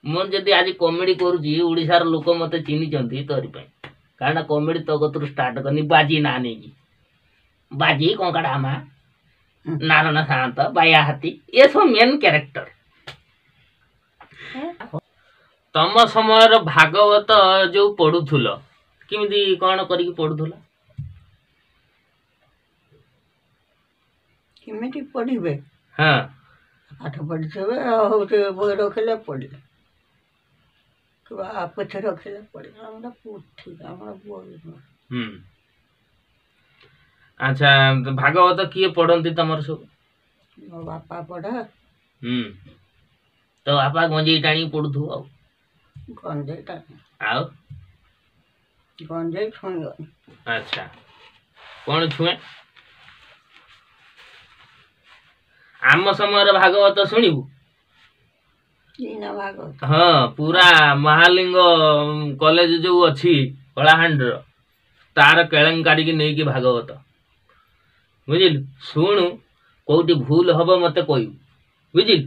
ମୁଁ ଯଦି ଆଜି କମେଡି କରୁଛି, ଓଡ଼ିଶାର ଲୋକ ମୋତେ ଚିହ୍ନିଛନ୍ତି ତୋରି ପାଇଁ। କାରଣ କମେଡି ତୋ କତରୁ ଷ୍ଟାର୍ଟ କରିନି, ବାଜି ନା ନେଇକି, ବାଜି, କଙ୍କଡ଼ା ମା, ନାରାୟଣ ସାଆନ୍ତ, ବାୟା ହାତୀ, ଏସବୁ ମେନ୍ କ୍ୟାରେକ୍ଟର। ତମ ସମୟର ଭାଗବତ ଯୋଉ ପଢୁଥିଲ, କେମିତି କଣ କରିକି ପଢୁଥିଲ? କେମିତି ପଢ଼ିବେ? ହଁ, ପାଠ ପଢ଼ିଥିବେ, ଆଉ ହଉଛି ବହି ରଖିଲେ ପଢ଼ିଲେ କିମ୍ବା ପୋଥି ରଖିଲେ ପଢ଼ିଲେ। ଆମର ପୋଥି, ଆମର ବହି ନୁହେଁ। ହୁଁ, ଆଚ୍ଛା, ଭାଗବତ କିଏ ପଢନ୍ତି ତମର ସବୁ? ମୋ ବାପା ପଢ଼େ। ହୁଁ, ତ ବାପା ଗଞ୍ଜେଇ ଟାଣିକି ପଢୁଥିବ ଆଉ? ଗଞ୍ଜେଇ ଟାଣି ଆଉ ଗଞ୍ଜେଇ ଛୁଇଁବନି। ଆଚ୍ଛା, କଣ ଛୁଏଁ? ଆମ ସମୟରେ ଭାଗବତ ଶୁଣିବୁ? ଏଇନା ଭାଗବତ? ହଁ, ପୁରା ମହାଲିଙ୍ଗ କଲେଜ ଯୋଉ ଅଛି କଳାହାଣ୍ଡିର, ତାର କେଳେଙ୍କାରୀକି ନେଇକି ଭାଗବତ, ବୁଝିଲୁ? ଶୁଣୁ, କୋଉଠି ଭୁଲ ହବ ମତେ କହିବୁ, ବୁଝିଲୁ?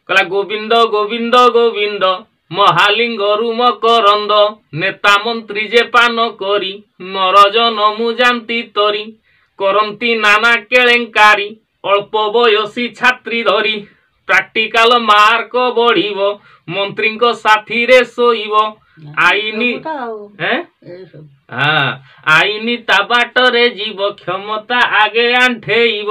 କହିଲା, ଗୋବିନ୍ଦ ଗୋବିନ୍ଦ ଗୋବିନ୍ଦ ମହାଲିଙ୍ଗରୁ ମକରନ୍ଦ, ନେତା ମନ୍ତ୍ରୀ ଯେ ପାନ କରି ନରଜନ ମୁଁ ଯାନ୍ତି ତରି, କରନ୍ତି ନାନା କେଳେଙ୍କାରୀ ଅଳ୍ପ ବୟସୀ ଛାତ୍ରୀ ଧରି, ପ୍ରାକ୍ଟିକାଲ ମାର୍କ ବଢିବ ମନ୍ତ୍ରୀଙ୍କ ସାଥିରେ ଶୋଇବ, ଆଇନି ଏସବୁ ତ ଆଉ ଏଁ? ଏଇସବୁ। ହଁ, ଆଇନି ତା ବାଟରେ ଯିବ, କ୍ଷମତା ଆଗେ ଆଣ୍ଠେଇବ,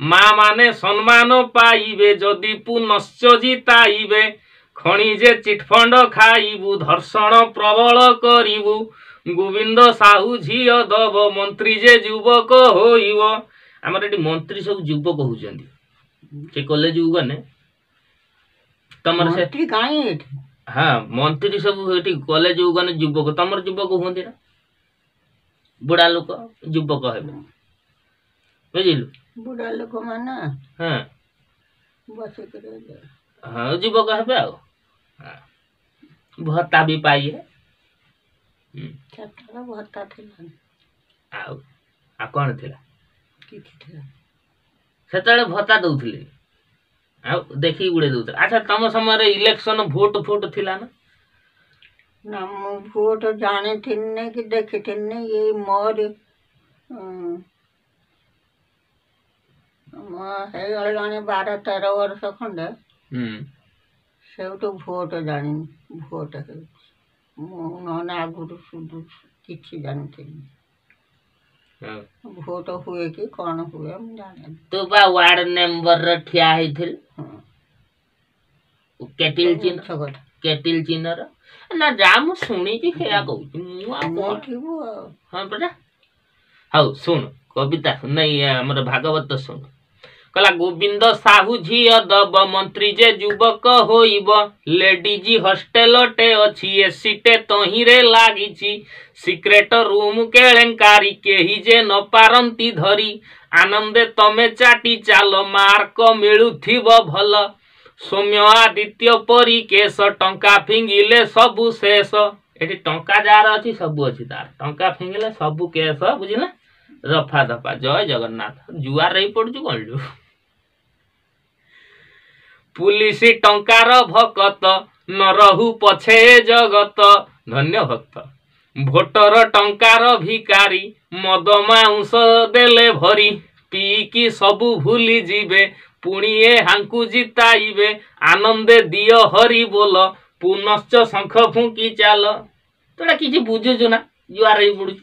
ମା ମାନେ ସମ୍ମାନ ପାଇବେ ଯଦି ପୁନଶ୍ଚ ଜିତାଇବେ, ଖଣିଜେ ଚିଟଫଣ୍ଡ ଖାଇବୁ, ଧର୍ଷଣ ପ୍ରବଳ କରିବୁ, ଗୋବିନ୍ଦ ସାହୁ ଝିଅ ଦବ, ମନ୍ତ୍ରୀ ଯେ ଯୁବକ ହୋଇବ। ଆମର ଏଠି ମନ୍ତ୍ରୀ ସବୁ ଯୁବକ ହଉଛନ୍ତି। ସେ କଲେଜକୁ ଗଲେ ତମର ସେ ମନ୍ତ୍ରୀ କାହିଁ ଏଠି? ହଁ, ମନ୍ତ୍ରୀ ସବୁ ଏଠି କଲେଜକୁ ଗଲେ ଯୁବକ। ତମର ଯୁବକ ହୁଅନ୍ତି ନା? ବୁଢା ଲୋକ ଯୁବକ ହେବେ, ବୁଝିଲୁ? ବୁଢା ଲୋକମାନେ ବସିକରି। ହଁ, ଯୁବକ ହେବେ ଆଉ। ହଁ, ଭତ୍ତା ବି ପାଇବେ। ସେତେବେଳେ ଭତ୍ତା ଥିଲା? ଆଉ ଆଉ କଣ ଥିଲା? କିଛି ଥିଲା। ସେତେବେଳେ ଭତ୍ତା ଦଉଥିଲେ ଆଉ ଦେଖିକି ଗୁଡେ ଦଉଥିଲେ। ଆଚ୍ଛା, ତମ ସମୟରେ ଇଲେକ୍ସନ ଭୋଟ ଫୋଟ ଥିଲା ନା? ନା, ମୁଁ ଭୋଟ ଜାଣିଥିନି କି ଦେଖିଥିନି। ଏଇ ମୋର ମୋ ହେଇଗଲାଣି 12-13 ବର୍ଷ ଖଣ୍ଡେ, ସେଇଠୁ ଭୋଟ ଜାଣିନି, ଭୋଟ ହେଉଛି। ମୁଁ ନହେଲେ ଆଗରୁ ସୁଧୁ କିଛି ଜାଣିଥିଲି, ଭୋଟ ହୁଏ କି କ'ଣ ହୁଏ ମୁଁ ଜାଣେନି। ତୁ ବା ୱାର୍ଡ ମେମ୍ବରରେ ଠିଆ ହେଇଥିଲୁ? ହଁ। କେଟିଲ ଚିହ୍ନ। ମିଛ କଥା। କେଟିଲ ଚିହ୍ନର ନା, ଯାହା ମୁଁ ଶୁଣିଛି ସେଇଆ କହୁଛି ମୁଁ, ଆଉ ମୁଁ କଣ ଥିବୁ ଆଉ। ହଁ ପରା। ହଉ ଶୁଣୁ, କବିତା ନାଇଁ, ଆମର ଭାଗବତ ଶୁଣୁ। କହିଲା, ଗୋବିନ୍ଦ ସାହୁ ଝିଅ ଦବ, ମନ୍ତ୍ରୀ ଯେ ଯୁବକ ହୋଇବ, ଲେଡିଜ ହଷ୍ଟେଲଟେ ଅଛି, ଏସିଟେ ତହିଁରେ ଲାଗିଛି, ସିକ୍ରେଟ ରୁମ କେଳେଙ୍କାରୀ କେହି ଯେ ନ ପାରନ୍ତି ଧରି, ଆନନ୍ଦେ ତମେ ଚାଟି ଚାଲ, ମାର୍କ ମିଳୁଥିବ ଭଲ, ସୌମ୍ୟ ଆଦିତ୍ୟ ପରି କେଶ, ଟଙ୍କା ଫିଙ୍ଗିଲେ ସବୁ ଶେଷ। ଏଠି ଟଙ୍କା ଯାହାର ଅଛି ସବୁ ଅଛି ତାର। ଟଙ୍କା ଫିଙ୍ଗିଲେ ସବୁ କେଶ, ବୁଝିଲେ, ରଫା ଦଫା। ଜୟ ଜଗନ୍ନାଥ। ଜୁଆର ହେଇ ପଡୁଛୁ କଣ ଲୋ? ପୁଲିସ ଟଙ୍କାର ଭକତ, ନ ରହୁ ପଛେ ଜଗତ ଧନ୍ୟ ଭକ୍ତ, ଭୋଟର ଟଙ୍କାର ଭିକାରୀ, ମଦ ମାଉଁସ ଦେଲେ ଭରି, ପିଇକି ସବୁ ଭୁଲି ଯିବେ, ପୁଣି ଏହାଙ୍କୁ ଜିତାଇବେ, ଆନନ୍ଦେ ଦିଅ ହରି ବୋଲ, ପୁନଶ୍ଚ ଶଙ୍ଖ ଫୁଙ୍କି ଚାଲ। ତୁ କିଛି ବୁଝୁଛୁ ନା ଜୁଆର ହେଇ ପଡୁଛୁ?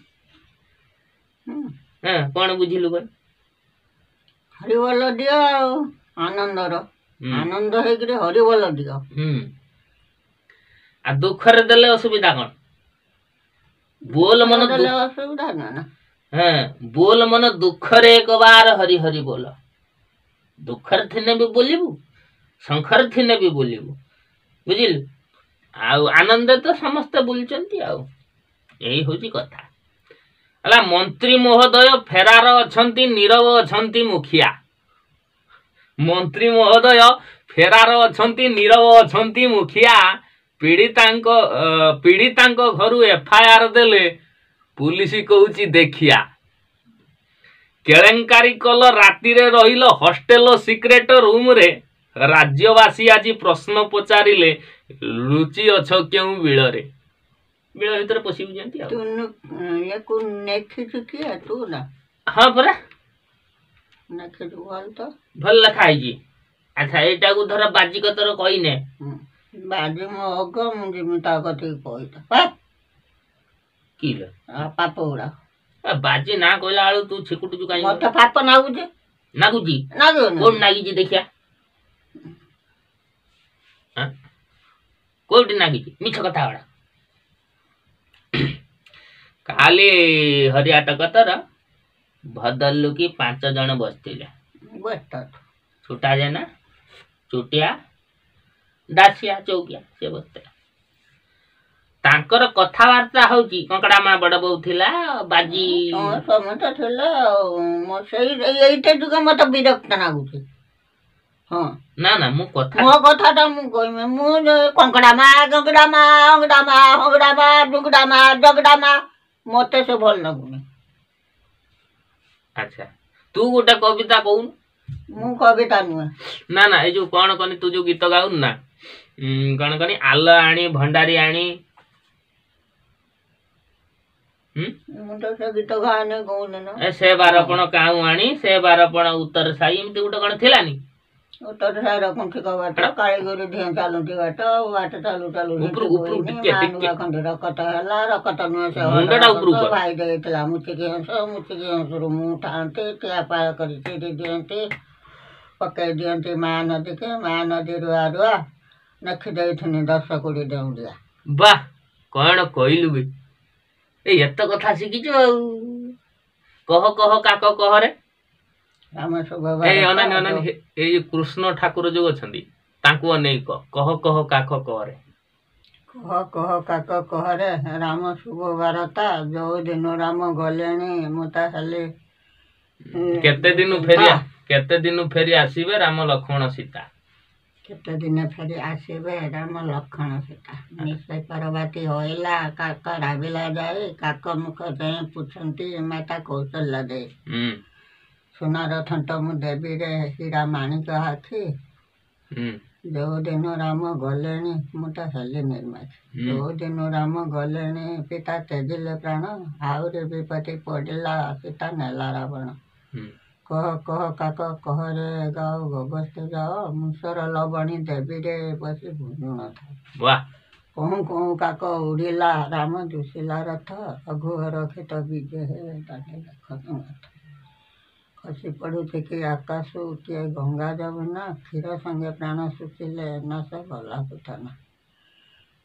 ହଁ, କଣ ବୁଝିଲୁ କହ? ହରିବୋଲ ଦିଅ ଆଉ ଆନନ୍ଦର ଆନନ୍ଦ ହେଇକିରି ହରିବୋଲ ଦିଅ। ହୁଁ, ଆଉ ଦୁଃଖରେ ଦେଲେ ଅସୁବିଧା କଣ? ବୋଲ ମନ ଦେଲେ ଅସୁବିଧା ନା ନା। ହଁ, ବୋଲ ମନ ଦୁଃଖରେ ଏକ ବାର ହରି ହରି ବୋଲ। ଦୁଃଖରେ ଥିନେ ବି ବୋଲିବୁ, ଶଙ୍ଖରେ ଥିନେ ବି ବୋଲିବୁ, ବୁଝିଲୁ? ଆଉ ଆନନ୍ଦ ତ ସମସ୍ତେ ବୁଲୁଛନ୍ତି। ଆଉ ଏଇ ହଉଛି କଥା ହେଲା, ମନ୍ତ୍ରୀ ମହୋଦୟ ଫେରାର ଅଛନ୍ତି, ନୀରବ ଅଛନ୍ତି ମୁଖିଆ। ମନ୍ତ୍ରୀ ମହୋଦୟ ଫେରାର ଅଛନ୍ତି, ନୀରବ ଅଛନ୍ତି ମୁଖିଆ, ପୀଡ଼ିତାଙ୍କ ଘରୁ ଏଫଆଇଆର ଦେଲେ ପୁଲିସ କହୁଛି ଦେଖିଆ, କେଳେଙ୍କାରୀ କଲ, ରାତିରେ ରହିଲ ହଷ୍ଟେଲ ସିକ୍ରେଟ ରୁମରେ, ରାଜ୍ୟବାସୀ ଆଜି ପ୍ରଶ୍ନ ପଚାରିଲେ ଲୁଚି ଅଛ କେଉଁ ବିଳରେ? ବିଳ ଭିତରେ ପଶିବୁ ଯେମିତି ଆଉ ତୁ ୟାକୁ ନେଖିଛୁ କିଏ ତୁ ନା? ହଁ ପରା ନେଖିଛୁ, ଭଲ ତ ଭଲ ଲେଖା ହେଇଛି। ଆଚ୍ଛା, ଏଇଟାକୁ ଧର ବାଜି କତର କହିନେ। ବାଜି ମୋ ଅଗ, ମୁଁ ଯିମି ତା କତିକି କହିଥା କି ଲୋ ପାପ ଗୁଡା। ବାଜି ନା କହିଲା ବେଳୁ ତୁ ଛିକୁଟୁଛୁ କାଇଁ? ମତେ ପାପ ନାଗୁଛି। ନାଗୁଛି? କୋଉଠି ନାଗିଛି ଦେଖିଆ, କୋଉଠି ନାଗିଛି? ମିଛ କଥା ଗୁଡା। କାଲି ହରିଆଟ କତର ଭଦଲୁକି 5 ଜଣ ବସିଥିଲେ, ଛୋଟା ଜେନା, ଚୁଟିଆ, ଦାସିଆ, ଚୌକିଆ, ସେ ବସିଥିଲା। ତାଙ୍କର କଥାବାର୍ତ୍ତା ହଉଛି, କଙ୍କଡା ମା ବଡ ବୋଉ ଥିଲା, ବାଜି ସମସ୍ତେ ଥିଲେ। ଆଉ ସେଇ ଏଇଟା ଯୁଗ ମତେ ବିରକ୍ତ ଲାଗୁଛି। ହଁ ନା ନା, ମୁଁ କଥା ମୋ କଥାଟା ମୁଁ କହିବି। ମୁଁ କଙ୍କଡା ମା, କଙ୍କଡା ମା, ଅଙ୍ଗଡା ମା, ହଙ୍ଗଡା ମା, ଡୁଙ୍ଗଡା ମା, ଜଗଡା ମା, ମତେ ସେ ଭଲ ଲାଗୁନି। ଆଚ୍ଛା, ତୁ ଗୋଟେ କବିତା କହୁନୁ। ମୁଁ କବିତା ନୁହେଁ। ନା ନା, ଏଇ ଯୋଉ କଣ କନି, ତୁ ଯୋଉ ଗୀତ ଗାଉନୁ ନା, କଣ କନି, ଆଲ ଆଣି ଭଣ୍ଡାରୀ ଆଣି। ମୁଁ ତ ସେ ଗୀତ ଗାଏନି, କହୁନି ନା। ସେ ବାରପଣ କାଉଁ ଆଣି, ସେ ବାରପଣ ଉତ୍ତର ସାହି, ଏମିତି ଗୋଟେ କଣ ଥିଲାନି? ଉତ୍ତର ସାହିର କୁଣ୍ଠିକ ବାଟ, କାଳିଗିରି ଧିଏଁ ଚାଲୁଛି ବାଟ, ବାଟ ଚାଲୁ ଚାଲୁ ଖଣ୍ଡେ ରକତ ହେଲା, ରକତ ନୁହେଁ ସେ ଭାଇ ଦେଇଥିଲା ମୁଚିକି ହଂସ, ମୁଚିକି ହଂସରୁ ମୁଁ ଥାଆନ୍ତି, ଠିଆ ପାଳ କରି ଚିରି ଦିଅନ୍ତି, ପକେଇ ଦିଅନ୍ତି ମା ନଦୀକି, ମା ନଦୀ ରୁଆ ରୁଆ ନେଖି ଦେଇଥିନି 10 କୋଡ଼ି ଡେଉଁରିଆ। ବାহ, କଣ କହିଲୁ ବେ, ଏଇ ଏତେ କଥା ଶିଖିଛୁ। ଆଉ କହ କହ କାକ କହରେ। ଏଇ ଅନାନି ଅନାନି, ଏଇ ଯୋଉ କୃଷ୍ଣ ଠାକୁର ଯୋଉ ଅଛନ୍ତି ତାଙ୍କୁ ଅନେଇ କହ, କହ କହ କାକ କହରେ। କହ କହ କାକ କହରେ ରାମ ଶୁଭ ବାରତା, ଯୋଉ ଦିନ ରାମ ଗଲେଣି ମୁଁ ତା ହେଲି। କେତେ ଦିନ ଫେରି, କେତେ ଦିନ ଫେରି ଆସିବେ ରାମ ଲକ୍ଷ୍ମଣ ସୀତା? କେତେ ଦିନ ଫେରି ଆସିବେ ରାମ ଲକ୍ଷ୍ମଣ ସୀତା? ନିଶ୍ଚୟ ପରବାତି ହଇଲା କାକ ରାବିଲା ଯାଇ, କାକ ମୁଖ ଯାଇ ପୁଛନ୍ତି ମାତା କୌଶଲ୍ୟା ଦେଇ, ସୁନାର ଥଣ୍ଟ ମୁଁ ଦେବୀରେ ହୀରା ମାଣିକ ଆଖି, ଯୋଉ ଦିନ ରାମ ଗଲେଣି ମୁଁ ତ ହେଲି ନିର୍ମାଖି, ଯୋଉ ଦିନ ରାମ ଗଲେଣି ପିତା ତେଜିଲେ ପ୍ରାଣ, ଆହୁରି ବିପତ୍ତି ପଡ଼ିଲା ସୀତା ନେଲା ରାବଣ। କହ କହ କାକ କହରେ ଗାओ ଗଗସ୍ତେ ଯାଅ, ମୁସର ଲବଣୀ ଦେବୀରେ ବସି ଭୁଞ୍ଜୁଣ ଥାଏ। କହୁଁ କହୁଁ କାକ ଉଡ଼ିଲା ରାମ ଦୁଶିଲା ରଥ, ରଘୁଘର ରଖିତ ବିଜେ ହେ ଦେଖ। ଖସି ପଡୁଛି କି ଆକାଶୁ କିଏ ଗଙ୍ଗା ଯମୁନା, କ୍ଷୀର ସଙ୍ଗେ ପ୍ରାଣ ଶୁଖିଲେ ନା ସେ ଗଲା ପୁତନା।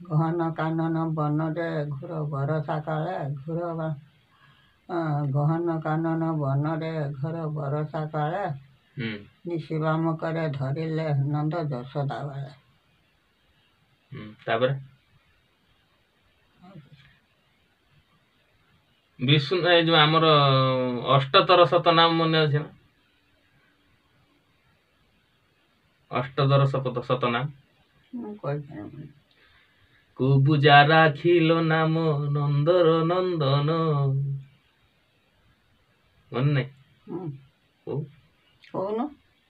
ଗହନ କାନନ ବନରେ ଘୋର ବରଷା କାଳେ, ଘୋର ଗହନ କାନନ ବନରେ ଘୋର ବରଷା କାଳେ, ନିଶିବାମ କରେ ଧରିଲେ ନନ୍ଦ ଯଶୋଦା ବେଳେ। ତାପରେ ବିଷ୍ଣୁ, ଏ ଯୋଉ ଆମର ଅଷ୍ଟତର ଶତନାମ ମନେ ଅଛି ନା? ଅଷ୍ଟତର ଶତନାମ। କୁବୁଜା ରାଖିଲ ନାମ ନନ୍ଦର ନନ୍ଦନ, ମନେ ନାହିଁ?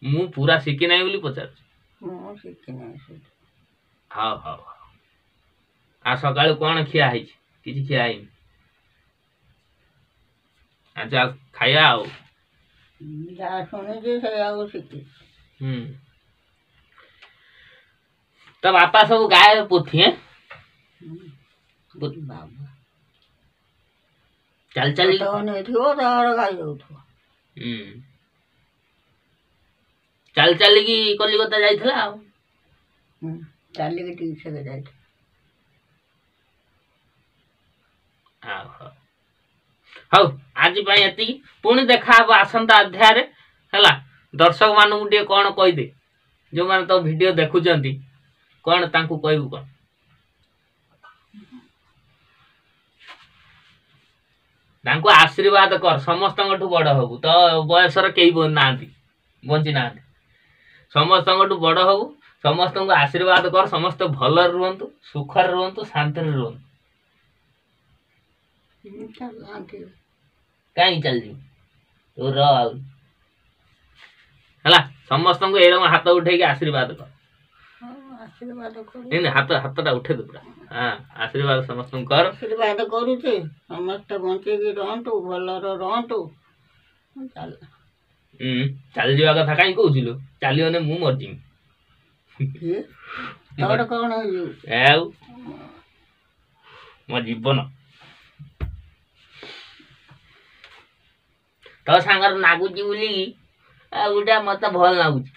ମୁଁ ପୁରା ଶିଖି ନାହିଁ ବୋଲି ପଚାରୁଛି। ହଉ ହଉ ହଉ। ଆଉ ସକାଳୁ କଣ ଖିଆ ହେଇଛି? କିଛି ଖିଆ ହେଇନି? ଆଚ୍ଛା, ଖାଇବା ଆଉ ଯାହା ଶୁଣିଛି ସେଇଆକୁ ଶିଖିଛି। ହୁଁ, ତ ବାପା ସବୁ ଗାଏ ପୋଥି ବାବା ଚାଲି ଚାଲି ନେଇଥିବ ତାର ଗାଇ ଯାଉଥିବ। ହୁଁ, ଚାଲି ଚାଲିକି କଲିକତା ଯାଇଥିଲା। ଆଉ ଚାଲିକି ଟିକେ ଯାଇଥିଲା। ଆଉ ହଉ, ଆଜି ପାଇଁ ଏତିକି, ପୁଣି ଦେଖା ହବ ଆସନ୍ତା ଅଧ୍ୟାୟରେ। ହେଲା, ଦର୍ଶକ ମାନଙ୍କୁ ଟିକେ କଣ କହିଦେ, ଯୋଉମାନେ ତ ଭିଡିଓ ଦେଖୁଛନ୍ତି, କଣ ତାଙ୍କୁ କହିବୁ? କଣ ତାଙ୍କୁ ଆଶୀର୍ବାଦ କର, ସମସ୍ତଙ୍କଠୁ ବଡ ହବୁ। ତ ବୟସର କେହି ନାହାନ୍ତି, ବଞ୍ଚି ନାହାନ୍ତି, ସମସ୍ତଙ୍କଠୁ ବଡ ହବୁ। ସମସ୍ତଙ୍କୁ ଆଶୀର୍ବାଦ କର, ସମସ୍ତେ ଭଲରେ ରୁହନ୍ତୁ, ସୁଖରେ ରୁହନ୍ତୁ, ଶାନ୍ତିରେ ରୁହନ୍ତୁ। କାହିଁକି ଚାଲିଯିବୁ ତୁ? ର ଆହୁରି। ହେଲା, ସମସ୍ତଙ୍କୁ ଏରକମ ହାତ ଉଠେଇକି ଆଶୀର୍ବାଦ କର। ଆଶୀର୍ବାଦ କରୁ। ନାଇଁ, ହାତଟା ଉଠେଇ ଦେ ପୁରା। ହଁ, ଆଶୀର୍ବାଦ ସମସ୍ତଙ୍କୁ କର। ଆଶୀର୍ବାଦ କରୁଛି, ସମସ୍ତେ ବଞ୍ଚିକି ରହନ୍ତୁ, ଭଲରେ ରହନ୍ତୁ। ଚାଲ। ଚାଲିଯିବା କଥା କାହିଁ କହୁଥିଲୁ? ଚାଲିଗଲେ ମୁଁ ମରିଯିବି। କିଏ ତୋର କ'ଣ ହେଇଯିବ? ଆଉ ମୋ ଜୀବନ ତୋ ସାଙ୍ଗରେ ନାଗୁଛି ବୋଲିକି ଆଉ ଗୋଟେ ମତେ ଭଲ ଲାଗୁଛି।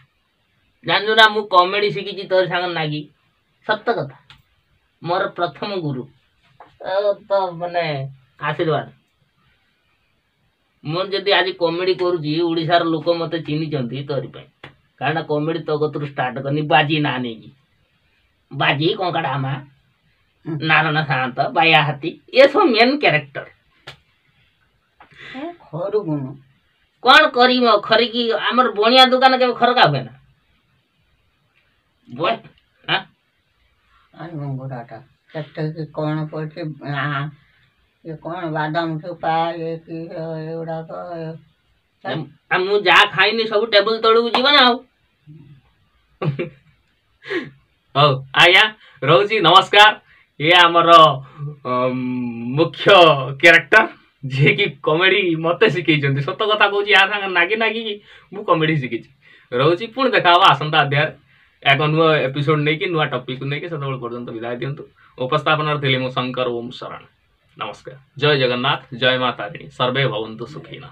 ଜାଣିଛୁ ନା, ମୁଁ କମେଡି ଶିଖିଛି ତୋରି ସାଙ୍ଗରେ ନାଗି। ସତ କଥା, ମୋର ପ୍ରଥମ ଗୁରୁ ତ ମାନେ ଆଶୀର୍ବାଦ। ମୁଁ ଯଦି ଆଜି କମେଡି କରୁଛି, ଓଡ଼ିଶାର ଲୋକ ମତେ ଚିହ୍ନିଛନ୍ତି ତୋରି ପାଇଁ। କାରଣ କମେଡି ତୋ କତରୁ ଷ୍ଟାର୍ଟ କରିନି, ବାଜି ନା ନେଇକି, ବାଜି, କଙ୍କଡ଼ା ମା, ନାରାୟଣ ସାଆନ୍ତ, ବାୟା ହାତୀ, ଏସବୁ ମେନ୍ କ୍ୟାରେକ୍ଟର। ଖରୁଗୁଣୁ। କ'ଣ କରିବ ଖରିକି? ଆମର ବଣିଆ ଦୋକାନ କେବେ ଖରକା ହୁଏ ନା? ଘୁଙ୍ଗୁରାଟା କେତେ କି କ'ଣ ପଡ଼ିଛି, ଇଏ କ'ଣ ବାଦାମ ଚୋପା, ଇଏ କି ଏଗୁଡ଼ାକ। ଆଉ ମୁଁ ଯାହା ଖାଇନି ସବୁ ଟେବୁଲ ତଳକୁ ଯିବ ନା ଆଉ। ହଉ ଆଜ୍ଞା, ରହୁଛି, ନମସ୍କାର। ଇଏ ଆମର ମୁଖ୍ୟ କ୍ୟାରେକ୍ଟର, ଯିଏକି କମେଡି ମତେ ଶିଖେଇଛନ୍ତି। ସତ କଥା କହୁଛି, ୟା ସାଙ୍ଗେ ନାଗି ନାଗିକି ମୁଁ କମେଡି ଶିଖିଛି। ରହୁଛି, ପୁଣି ଦେଖା ହବ ଆସନ୍ତା ଅଧ୍ୟାୟରେ ଏକ ନୂଆ ଏପିସୋଡ ନେଇକି, ନୂଆ ଟପିକ ନେଇକି। ସେତେବେଳେ ପର୍ଯ୍ୟନ୍ତ ବିଦାୟ ଦିଅନ୍ତୁ। ଉପସ୍ଥାପନାରେ ଥିଲି ମୁଁ ଶଙ୍କର। ଓମ୍ ଶରଣ, ନମସ୍କାର, ଜୟ ଜଗନ୍ନାଥ, ଜୟ ମା ତାରିଣୀ, ସର୍ବେ ଭବନ୍ତୁ ସୁଖିନଃ।